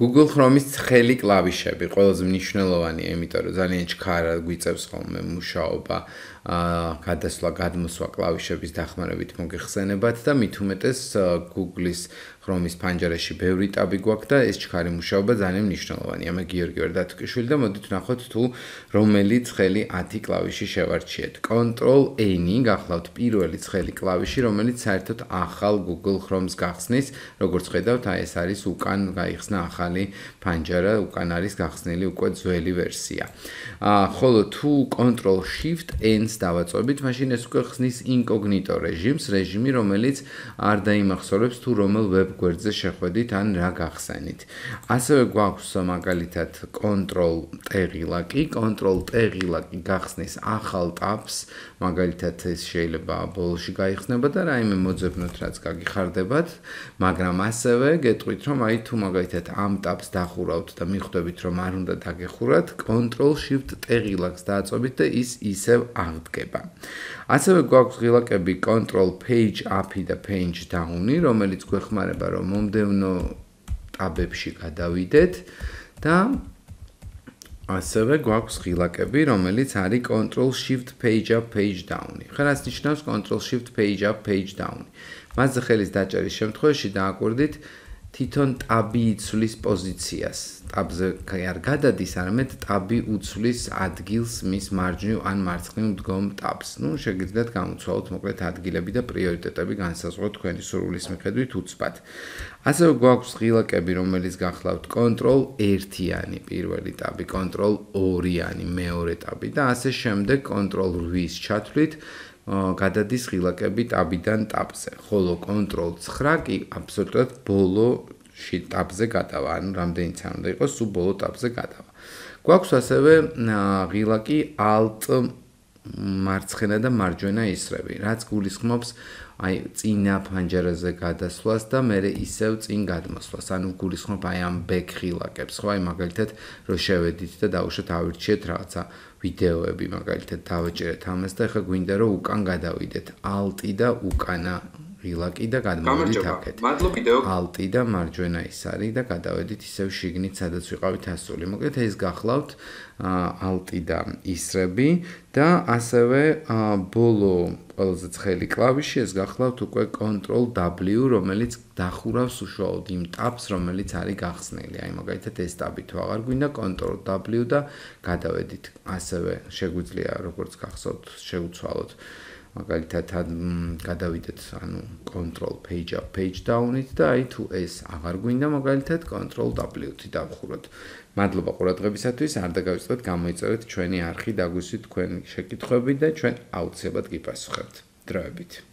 Google Chrome-ის ცხელი კლავიშები ყველაზე მნიშვნელოვანია, იმიტომ რომ ძალიან ჩქარა გვიწევს ხოლმე მუშაობა, გადასვლა, გადმოსვლა კლავიშების დახმარებით მოგეხსენებათ და მით უმეტეს Google-ის Chrome-ის ფანჯარაში ბევრი ტაბი გვაქვს და ეს ჩქარი მუშაობა ძალიან მნიშვნელოვანია. მე გიორგი ვერდათუკვიშვილი და მოდით ვნახოთ თუ რომელი ცხელი 10 კლავიში შევარჩიეთ. Ctrl-N გახლავთ პირველი ცხელი კლავიში, რომელიც საერთოდ ახალ Google Chrome-ს გახსნის, როგორც ხედავთ, აი ეს არის უკან გაიხსნა ახალი ფანჯარა, უკან არის გახსნილი უკვე ძველი ვერსია. ხოლო თუ Ctrl-Shift-N-ს დავაწვევით, მაშინ ეს უკვე ხსნის incognito რეჟიმს, რეჟიმი, რომელიც არ დაიმახსოვრებს თუ რომელ ვებ გვერდზე შეხვედით ან რა გახსენით. ასევე გვაქვს მაგალითად Ctrl-T-ღილაკი, Ctrl-T-ღილაკი გახსნის ახალ ტაბს, მაგალითად ეს შეიძლება ბოლოში გაიხსნება და რაიმე მოძებნოთ, რაც გაგიხარდებათ, მაგრამ ასევე გეტყვით, რომ აი თუ მაგალითად ამ ტაბს დახურავთ და მიხვდებით, რომ არ უნდა დაგეხურათ, Ctrl-Shift-T-ღილაკს დააწვევით და ის ისევ აღდგება. ასევე გვაქვს ღილაკები Ctrl-Page Up-ი და Page Down-ი, რომელიც გვეხმარება, რომ მომდევნო ტაბებში გადავიდეთ და ასევე გვაქვს ღილაკები, რომელიც არის Ctrl-Shift-Page Up, Page Down-ი. ხერას ნიშნავს Ctrl-Shift-Page Up, Page Down-ი. მასზე ხელის დაჭერის შემთხვევაში დააკვირდით თვითონ ტაბი იცვლის პოზიციას. ტაბზე არ გადადის, არამედ ტაბი უცვლის ადგილს მის მარჯვნივ ან მარცხნივ მდგომ ტაბს. შეგიძლიათ გამოცვალოთ მოკლედ ადგილები და პრიორიტეტები განსაზღვროთ თქვენი სურვილის მიხედვით უცბად. ასევე გვაქვს ღილაკები, რომელიც გახლავთ Ctrl-1-იანი პირველი ტაბი, Ctrl-2-იანი მეორე ტაბი და ასე შემდეგ Ctrl-8-ის ჩათვლით გადადის ღილაკები ტაბიდან ტაბზე, ხოლო Ctrl-9 კი აბსოლუტურად ბოლოში ტაბზე გადავა, ანუ რამდენიც არ უნდა იყოს, სულ ბოლო ტაბზე გადავა. გვაქვს ასევე ღილაკი Alt მარცხენა და მარჯვენა ისრები, რაც გულისხმობს აი წინა ფანჯარაზე გადასვლას და მერე ისევ წინ გადმოსვლას, ანუ გულისხმობ აი ამ back ღილაკებს, ხო, აი მაგალითად რო შევედით და დავუშვათ ავირჩიეთ რაღაცა ვიდეოები, მაგალითად დავაჭერეთ ამას და ახლა გვინდა რომ უკან გადავიდეთ, Alt-ი და უკანა ღილაკი და გადმოვიდეთ აქეთ. Alt-ი და მარჯვენა ის არის და გადავედით ისევ შიგნით, სადაც ვიყავით ასული. მოკლედ ეს გახლავთ Alt-ი და ისრები და ასევე ბოლო ყველაზე ცხელი კლავიში ეს გახლავთ უკვე Ctrl-W, რომელიც დახურავს უშუალოდ იმ ტაბს, რომელიც არის გახსნილი. აი მაგალითად ეს ტაბი თუ აღარ გვინდა, Ctrl-W და გადავედით. ასევე შეგვიძლია როგორც გახსოვთ, შევუცვალოთ მაგალითად გადავიდეთ ანუ Ctrl-Page Up, Page Down-ით და აი თუ ეს აღარ გვინდა მაგალითად Ctrl-W-ით დავხუროთ. მადლობა ყურადღებისათვის, არ დაგავიწყდეთ, გამოიწერეთ ჩვენი არხი, დაგვისვით თქვენი შეკითხვები და ჩვენ აუცილებლად გიპასუხებთ. დროებით.